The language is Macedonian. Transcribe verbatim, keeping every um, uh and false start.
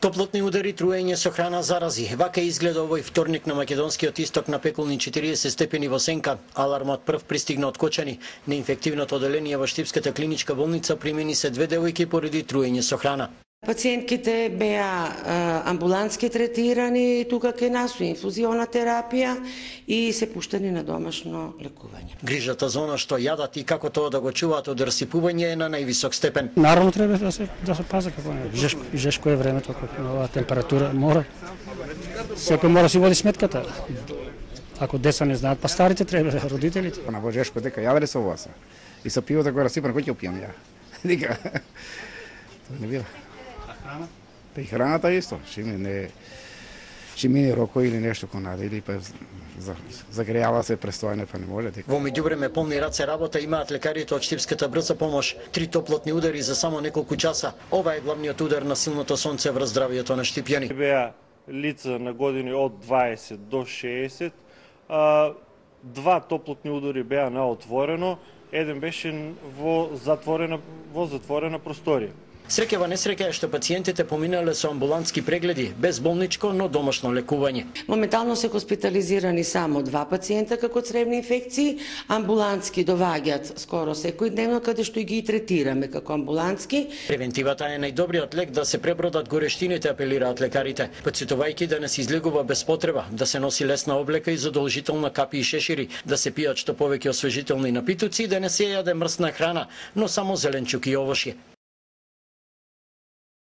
Топлотни удари, труење со храна, зарази. Вака изгледа овој вторник на македонскиот исток на пеколни четириесет степени во Сенка. Алармот прв пристигна од Кочани. На инфективното оделение во Штипската клиничка болница примени се две девојки поради труење со храна. Пациентките беа амбулантски третирани тука кај нас со инфузиона терапија и се пуштени на домашно лекување. Грижата за она што јадат и како тоа да го чуваат од расипување е на највисок степен. Наравно треба да се да се пази како не. Жешко, жешко е времето како на оваа температура, мора. Секој мора си води сметката. Ако деца не знаат, па старите треба, родителите. На Божешко дека јавеле со вас. И со пивото го расипано, кој ќе пијам ја? Дека. Тоа не бива. Па и храната исто, ще ми не ще мине роко или нешто конаде или па загрејава се престојане, па не може дека. Во меѓувреме полни раце работа имаат лекарите од Штипската брза помош. Три топлотни удари за само неколку часа. Ова е главниот удар на силното сонце врз здравието на штипјани. Беа лица на години од дваесет до шеесет. А, два топлотни удари беа на отворено, еден беше во затворена во затворена просторија. Среќава несреќа е што пациентите поминале со амбулантски прегледи, без болничко, но домашно лекување. Моментално се хоспитализирани само два пациента како цревни инфекции, амбулантски доваѓаат скоро секој дневно, каде што и ги третираме како амбулантски. Превентивата е најдобриот лек да се пребродат горештините, апелираат лекарите, потсетувајќи да не се излегува без потреба, да се носи лесна облека и задолжителна капи и шешири, да се пијат што повеќе освежителни напитоци и да не се јаде мрсна храна, но само зеленчук и овошје.